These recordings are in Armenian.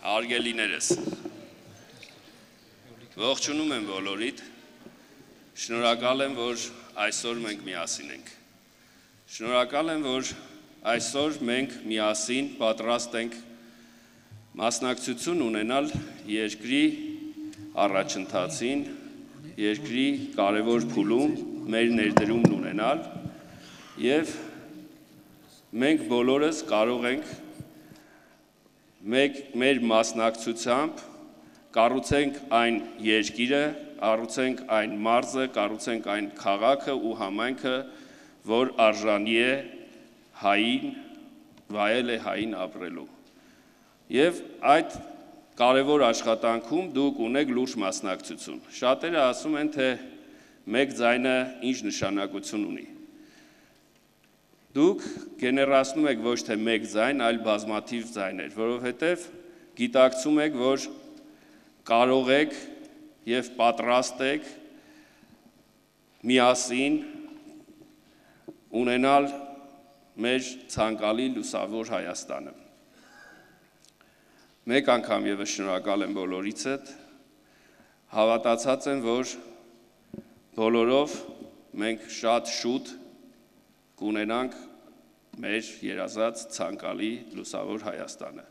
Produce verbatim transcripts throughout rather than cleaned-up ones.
Արգելիներս, ողջունում եմ բոլորիդ, շնորհակալ եմ, որ այսօր մենք միասին ենք, շնորհակալ եմ, որ այսօր մենք միասին պատրաստ ենք մասնակցություն ունենալ երկրի առաջընթացին, երկրի կարևոր փուլում մեր ներդրումն ունենալ և մենք բոլորս կարող ենք Մեկ մեր մասնակցությամբ կառուցենք այն երկիրը, կառուցենք այն մարզը, կառուցենք այն քաղաքը ու համայնքը, որ արժանի է հային, վայել է հային ապրելու։ Եվ այդ կարևոր աշխատանքում դուք ունեք լուրջ մասնակցություն։ Շատերը ասում են, թե մեկ ձայնը ինչ նշանակություն ունի։ Դուք գեներացնում եք ոչ թե մեկ ձայն, այլ բազմաթիվ ձայներ, որովհետև գիտակցում եք, որ կարող եք և պատրաստ եք միասին ունենալ մեր ցանկալի լուսավոր Հայաստանը։ Մեկ անգամ ևս շնորհակալ եմ բոլորիցդ, հավատացած եմ, որ բոլորով մենք շատ շուտ կունենանք մեր երազած ցանկալի լուսավոր Հայաստանը։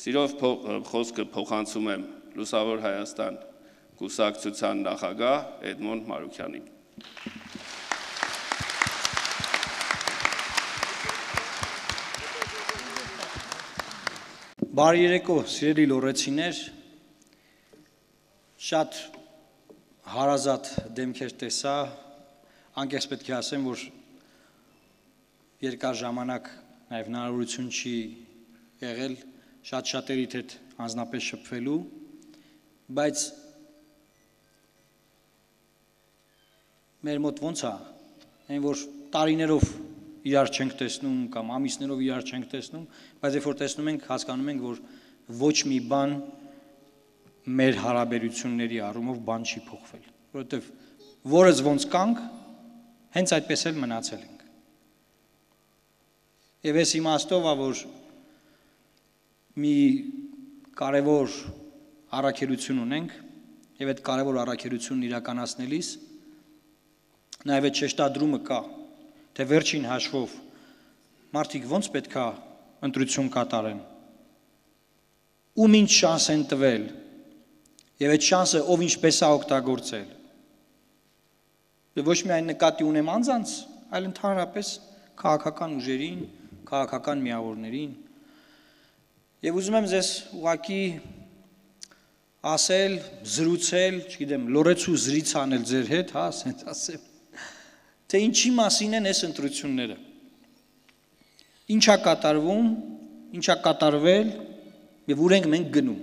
Սիրով խոսքը փոխանցում եմ Լուսավոր Հայաստան կուսակցության նախագահ Էդմոնդ Մարուքյանին։ Բարի երեկո, սիրելի լոռեցիներ, շատ հարազատ դեմքեր տեսա, անկեղծ պետք է ասեմ, որ երկար ժամանակ նաև հնարավորություն չի եղել շատ շատերիդ հետ անձնապես շփվելու, բայց մեր մոտ ոնց է, այն որ տարիներով իրար չենք տեսնում կամ ամիսներով իրար չենք տեսնում, բայց երբ որ տեսնում ենք, հասկանում ենք, որ ոչ մի բան մեր հարաբերությունների առումով բան չի փոխվել, որովհետև որս ոնց կանք, հենց այդպես էլ մնացել ենք։ Եվ այս իմաստով է, որ մի կարևոր առաքելություն ունենք և այդ կարևոր առաքելությունն իրականացնելիս նաև այդ շեշտադրումը կա, թե վերջին հաշվով մարդիկ ոնց պետք է ընտրություն կատարեն, ում ինչ շանս են տվել և այդ շանսը ով ինչպես է օգտագործել։ Ոչ միայն նկատի ունեմ անձանց, այլ ընդհանրապես քաղաքական ուժերին, քաղաքական միավորներին։ Եվ ուզում եմ ձեզ ուղղակի ասել, զրուցել, չգիտեմ, լոռեցու զրից անել ձեր հետ, հա, ասենց ասեմ, թե ինչի մասին են այս ընտրությունները։ Ինչ է կատարվում, ինչ է կատարվել և ուր ենք մենք գնում։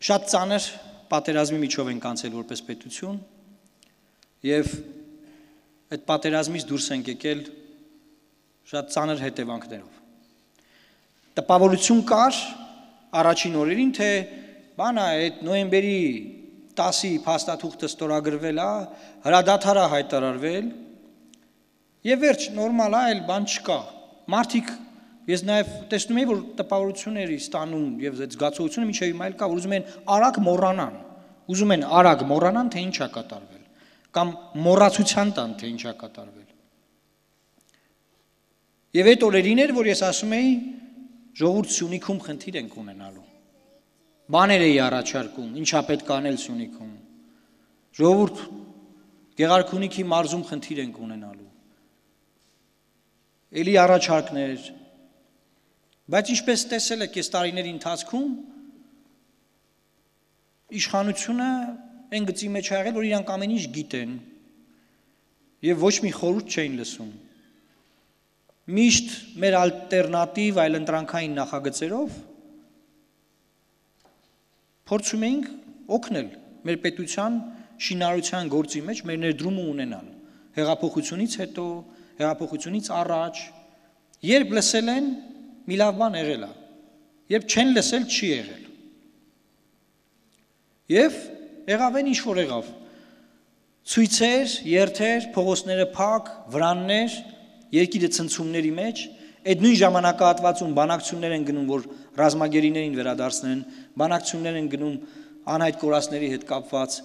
Շատ ծանր պատերազմի միջով ենք անցել որպես պետություն և այդ պատերազմից դուրս ենք եկել շատ ծանր հետևանքներով։ Տպավորություն կար առաջին օրերին, թե բանա այդ նոյեմբերի տասի փաստաթուղթը ստորագրվել է, հրադադար է հայտարարվել և վերջ, նորմալ է, այլ բան չկա։ Մարդիկ, ես նաև տեսնում եմ, որ տպավորություն էր ստանում և այդ զգացողությունը մինչև հիմա էլ կա, որ ուզում են արագ մոռանան, ուզում են արագ մոռանան, թե ինչ է կատարվել, կամ մոռացության տան, թե ինչ է կատարվել։ Եվ այդ օրերին էր, որ ես ասում էի, ժողովուրդ Սյունիքում խնդիր ենք ունենալու։ Բաներ էի առաջարկում, ինչա պետք անել Սյունիքում։ Ժողովուրդ Գեղարքունիքի մարզում խնդիր ենք ունենալու։ Էլի առաջարկներ, բայց ինչպես տեսել եք այս տարիների ընթացքում, իշխանությունը այն գծի մեջ է եղել, որ իրանք ամեն ինչ գիտեն և ոչ մի խորհուրդ չէին լսում։ Միշտ մեր ալտերնատիվ այլընտրանքային նախագծերով փորձում էինք օգնել մեր պետության շինարարության գործի մեջ մեր ներդրումը ունենալ։ Հեղափոխությունից հետո, հեղափոխությունից առաջ, երբ լսել են, մի լավ բան եղել է, երբ չեն լսել, չի եղել։ Եվ եղավ են ինչ որ եղավ, ցույցեր, երթեր, փողոցները փակ, վրաններ, երկիրը ցնցումների մեջ, այդ նույն ժամանակահատվածում բանակցություններ են գնում, որ ռազմագերիներին վերադարձնեն, բանակցություններ են գնում անհայտ կորածների հետ կապված,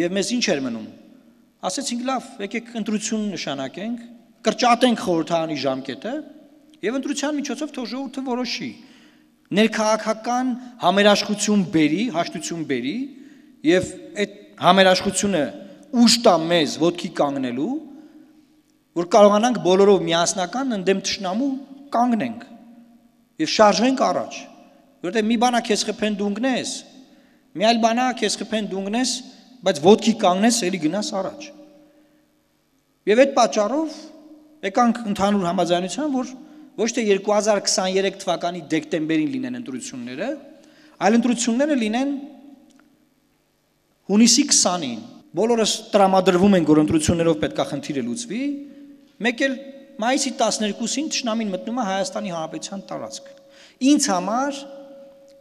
եւ մեզ ինչ էր մնում։ Ասեցինք լավ, եկեք ընտրություն նշանակենք, կրճատենք խորհրդարանի ժամկետը եւ ընտրության միջոցով թող ժողովուրդը որոշի։ Ներքաղաքական համերաշխություն բերի, հաշտություն բերի եւ այդ համերաշխությունը ուժ տա մեզ ոտքի կանգնելու, որ կարողանանք բոլորով միասնական ընդդեմ թշնամու կանգնենք եւ շարժենք առաջ, որտեղ մի բանա քեզ խփեն դու ընկնես, մի այլ բանա քեզ խփեն դու ընկնես, բայց ոտքի կանգնես, ելի գնաս առաջ։ Եվ այդ պատճառով եկանք ընդհանուր համաձայնության, որ ոչ թե երկու հազար քսաներեք թվականի դեկտեմբերին լինեն ընտրությունները, այլ ընտրությունները լինեն հունիսի քսանին։ Բոլորս տրամադրվում ենք, որ ընտրություններով պետքա խնդիրը լուծվի, մեկ էլ մայիսի տասներկուսին թշնամին մտնում է Հայաստանի Հանրապետության տարածք։ Ինձ համար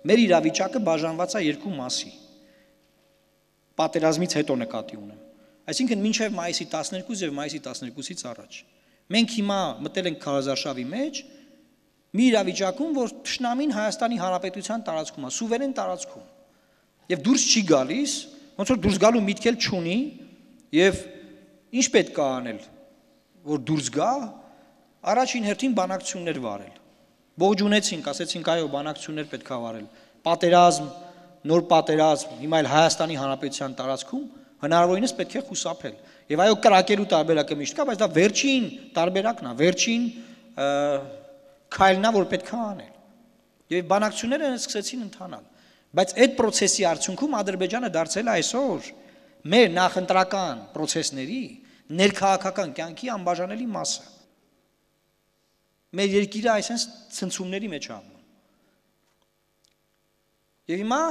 մեր իրավիճակը բաժանված է երկու մասի։ Պատերազմից հետո նկատի ունեմ։ Այսինքն մինչև մայիսի տասներկուսը եւ մայիսի տասներկուսից առաջ։ Մենք հիմա մտել ենք քարոզարշավի մեջ մի իրավիճակում, որ թշնամին Հայաստանի Հանրապետության տարածքում է, սուվերեն տարածքում։ Եվ դուրս չի գալիս, ոնց որ դուրս գալու միտք էլ չունի, եւ ինչ պետք է անել, որ դուրս գա, առաջին հերթին բանակցություններ վարել։ Ողջ ունեցինք, ասեցինք այո, բանակցություններ պետք է վարել։ Պատերազմ, նոր պատերազմ, հիմա էլ Հայաստանի Հանրապետության տարածքում հնարավորինս պետք է խուսափել։ Եվ այո, կրակելու տարբերակը միշտ կա, բայց դա վերջին տարբերակն է, վերջին քայլն է, որ պետք է անել։ Եվ բանակցությունները սկսեցին ընթանալ։ Բայց այդ process-ի արդյունքում Ադրբեջանը դարձել է այսօր մեր նախընտրական process-ների ներքաղաքական կյանքի անբաժանելի մասը։ Մեր երկիրը այսպես ցնցումների մեջ է ապրում։ Եվ հիմա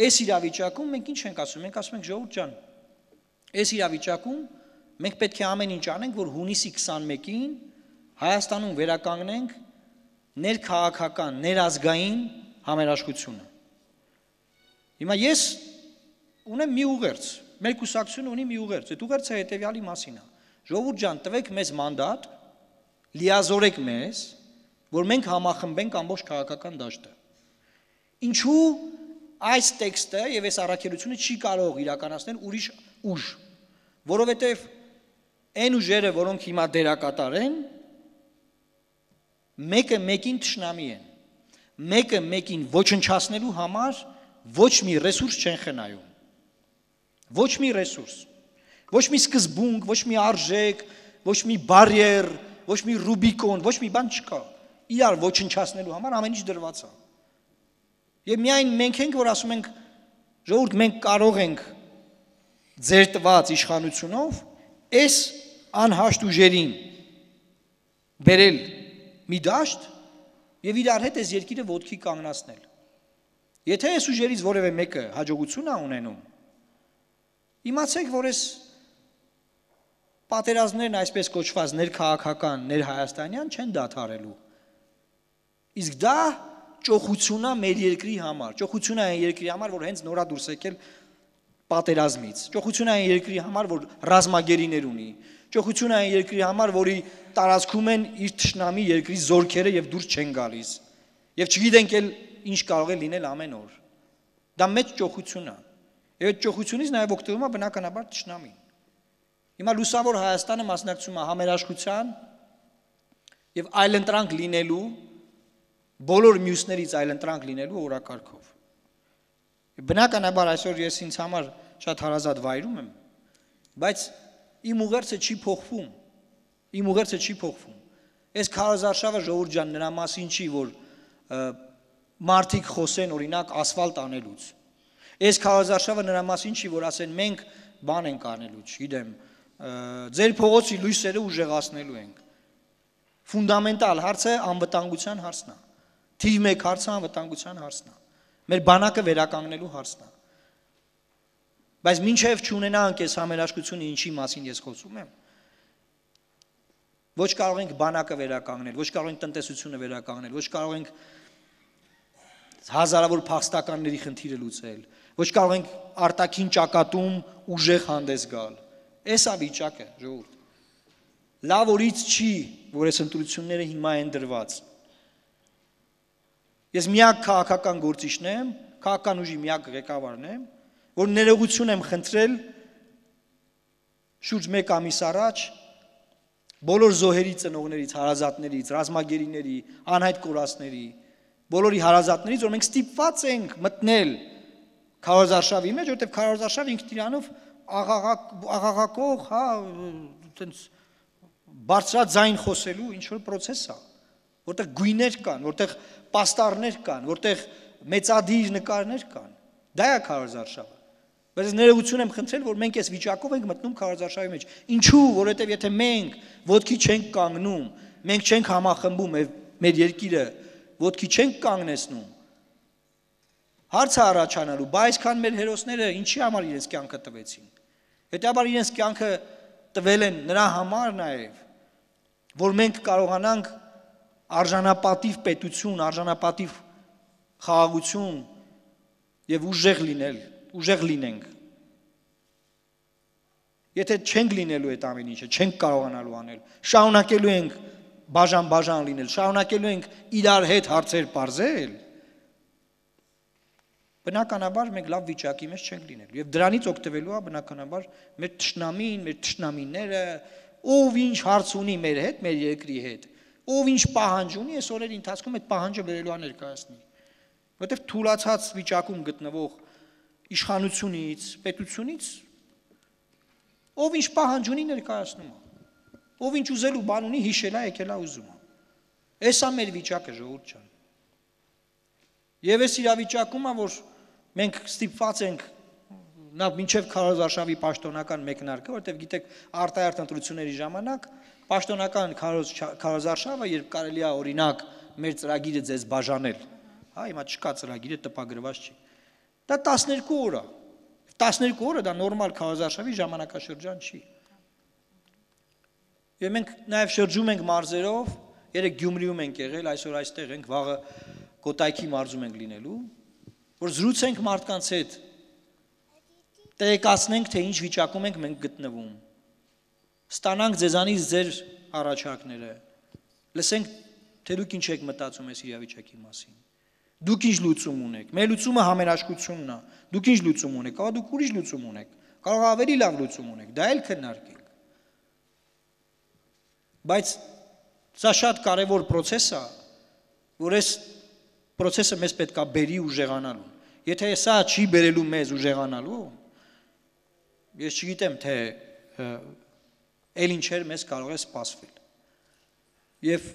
այս իրավիճակում մենք ինչ ենք ասում, մենք ասում ենք ժողովուրդ ջան, այս իրավիճակում մենք պետք է ամեն ինչ անենք, որ հունիսի քսանմեկին Հայաստանում վերականգնենք ներքաղաքական, ներազգային համերաշխությունը։ Հիմա ես ունեմ մի ուղերձ, մեր կուսակցությունը ունի մի ուղերձ, այդ ուղերձը հետևյալի մասին է։ Ժողովուրդ ջան, տվեք մեզ մանդատ, լիազորեք մեզ, որ մենք համախմբենք ամբողջ քաղաքական դաշտը։ Ինչու այս տեքստը եւ այս առաքելությունը չի կարող իրականացնել ուրիշ ուժ, որովհետեւ այն ուժերը, որոնք հիմա դերակատար են, մեկը մեկին թշնամի են, մեկը մեկին ոչնչացնելու համար ոչ մի ռեսուրս չեն խնայում, ոչ մի ռեսուրս, ոչ մի սկզբունք, ոչ մի արժեք, ոչ մի բարիեր, ոչ մի ռուբիկոն, ոչ մի բան չկա, իրար ոչնչացնելու համար ամեն ինչ դրված է։ Եվ միայն մենք ենք, որ ասում ենք, ժողովուրդ, մենք կարող ենք ձեր տված իշխանությունով այս անհաշտ ուժերին բերել մի դաշտ եւ իրար հետ այս երկիրը ոտքի կանգնացնել։ Եթե այս ուժերից որևէ մեկը հաջողություն է ունենում, իմացեք, որ այս պատերազմներն այսպես կոչված ներքաղաքական, ներհայաստանյան չեն դադարելու։ Իսկ դա ճոխություն է մեր երկրի համար, ճոխություն է այն երկրի համար, որ հենց նորա դուրս եկել պատերազմից, ճոխություն է այն երկրի համար, որ ռազմագերիներ ունի, ճոխություն է այն երկրի համար, որի տարածքում են իր թշնամի երկրի զորքերը եւ դուրս չեն գալիս։ Եվ չգիտենք էլ ինչ կարող է լինել ամեն օր։ Դա մեծ ճոխություն է։ Եվ այդ ճոխությունից նաեւ օգտվում է բնականաբար թշնամին։ Հիմա լուսավոր Հայաստանը մասնակցում է համերաշխության եւ այլընտրանք լինելու բոլոր մյուսներից այլընտրանք լինելու օրակարգով։ Բնականաբար այսօր ես ինձ համար շատ հարազատ վայրում եմ, բայց իմ ուղերձը չի փոխվում։ Իմ ուղերձը չի փոխվում։ Այս քարոզարշավը ժողովուրդ ջան նրա մասին չի, որ մարդիկ խոսեն օրինակ ասֆալտ անելուց։ Այս քարոզարշավը նրա մասին չի, որ ասեն մենք բան ենք անելու, չգիտեմ, ձեր փողոցի լույսերը ուժեղացնելու ենք։ Ֆունդամենտալ հարցը անվտանգության հարցն է։ Թիվ մեկ հարցը անվտանգության հարցն է։ Մեր բանակը վերականգնելու հարցն է։ Բայց մինչև չունենանք այս համերաշխությունը, ինչի մասին ես խոսում եմ, ոչ կարող ենք բանակը վերականգնել, ոչ կարող ենք տնտեսությունը վերականգնել, ոչ կարող ենք հազարավոր փախստականների խնդիրը լուծել, ոչ կարող ենք արտաքին ճակատում ուժեղ հանդես գալ։ Էս է վիճակը, ժողովուրդ։ Լավ օրից չի, որ այս ընտրությունները հիմա են դրված։ Ես միակ քաղաքական գործիչն եմ, քաղաքական ուժի միակ ղեկավարն եմ, որ ներողություն եմ խնդրել շուրջ մեկ ամիս առաջ բոլոր զոհերի ծնողներից, հարազատներից, ռազմագերիների, անհայտ կորածների, բոլորի հարազատներից, որ մենք ստիպված ենք մտնել քարոզարշավի մեջ, որտեղ քարոզարշավը ինքն իրանով աղաղակող, հա, այտենց բարձրաձայն խոսելու ինչ որ process է, որտեղ գույներ կան, որտեղ պաստառներ կան, որտեղ մեծադիր նկարներ կան։ Դա է քարոզարշավը։ Բայց ներողություն եմ խնդրել, որ մենք այս վիճակով ենք մտնում քարոզարշավի մեջ։ Ինչու, որովհետև եթե մենք ոտքի չենք կանգնում, մենք չենք համախմբում մեր երկիրը, ոտքի չենք կանգնեցնում, հարց է առաջանալու, բայց այսքան մեր հերոսները ինչի համար իրենց կյանքը տվեցին։ Հետաբար իրենց կյանքը տվել են նրա համար նաև, որ մենք կարողանանք արժանապատիվ պետություն, արժանապատիվ խաղաղություն եւ ուժեղ լինել, ուժեղ լինենք։ Եթե չենք լինելու այդ ամեն ինչը, չենք կարողանալու անել, շարունակելու ենք բաժան-բաժան լինել, շարունակելու ենք իրար հետ հարցեր բարձել, բնականաբար մենք լավ վիճակի մեջ չենք լինելու եւ դրանից օգտվելու է բնականաբար մեր թշնամին, մեր թշնամիները, ով ինչ հարց ունի մեր հետ, մեր երկրի հետ, ով ինչ պահանջ ունի, այս օրերի ընթացքում այդ պահանջը վերելու է ներկայացնի։ Որտեւ թուլացած վիճակում գտնվող իշխանությունից, պետությունից ով ինչ պահանջ ունի ներկայացնում է, ով ինչ ուզելու բան ունի հիշել է, եկել է ուզում է։ Էսա մեր վիճակը, ժողովուրդ ջան։ Եվ այս իրավիճակում է, որ մենք ստիպված ենք նա մինչև քարոզարշավի պաշտոնական մեկնարկը, որտեղ գիտեք արտահերթ ընտրությունների ժամանակ պաշտոնական քարոզարշավը, երբ կարելի է օրինակ մեր ծրագիրը ձեզ բաժանել, հա, հիմա չկա ծրագիրը տպագրված չի։ Դա տասներկու օր է։ տասներկու օրը դա նորմալ քարոզարշավի ժամանակաշրջան չի։ Եվ մենք նաև շրջում ենք մարզերով, երեք Գյումրիում ենք եղել, այսօր այստեղ ենք, վաղը Կոտայքի մարզում ենք լինելու, որ զրուցենք մարդկանց հետ, տեղեկացնենք, թե ինչ վիճակում ենք մենք գտնվում, ստանանք ձեզանից ձեր առաջարկները, լսենք, թե դուք ինչ եք մտածում այս իրավիճակի մասին, դուք ինչ լուծում ունեք, մեր լուծումը համերաշխությունն է, դուք ինչ լուծում ունեք, կարող դուք ուրիշ լուծում ունեք, կարող ավելի լավ լուծում ունեք, դա էլ քննարկենք, բայց սա շատ կարևոր process է, որ այս process-ը մեզ պետք է բերի ուժեղանալու։ Եթե սա չի բերելու մեզ ուժեղանալու, ես չգիտեմ, թե էլ ինչեր մեզ կարող է սպասվել։ Եվ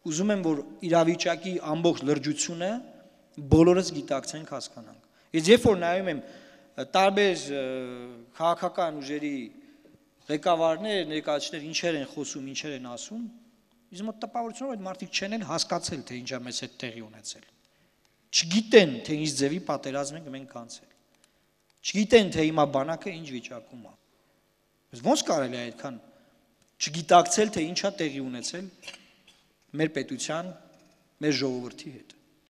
ուզում եմ, որ իրավիճակի ամբողջ լրջությունը բոլորս գիտակցենք, հասկանանք։ Ես երբ որ նայում եմ տարբեր քաղաքական ուժերի ղեկավարներ, ներկայացուցիչներ ինչեր են խոսում, ինչեր են ասում, Իզ մոտ տպավորությունով այդ մարդիկ չեն էլ հասկացել, թե ինչա մեզ հետ տեղի ունեցել։ Չգիտեն, թե ինչ ձևի պատերազմ ենք մենք անցել։ Չգիտեն, թե հիմա բանակը ինչ վիճակում է։ Բայց ո՞նց կարելի է այդքան չգիտակցել, թե ինչա տեղի ունեցել մեր պետության, մեր ժողովրդի հետ։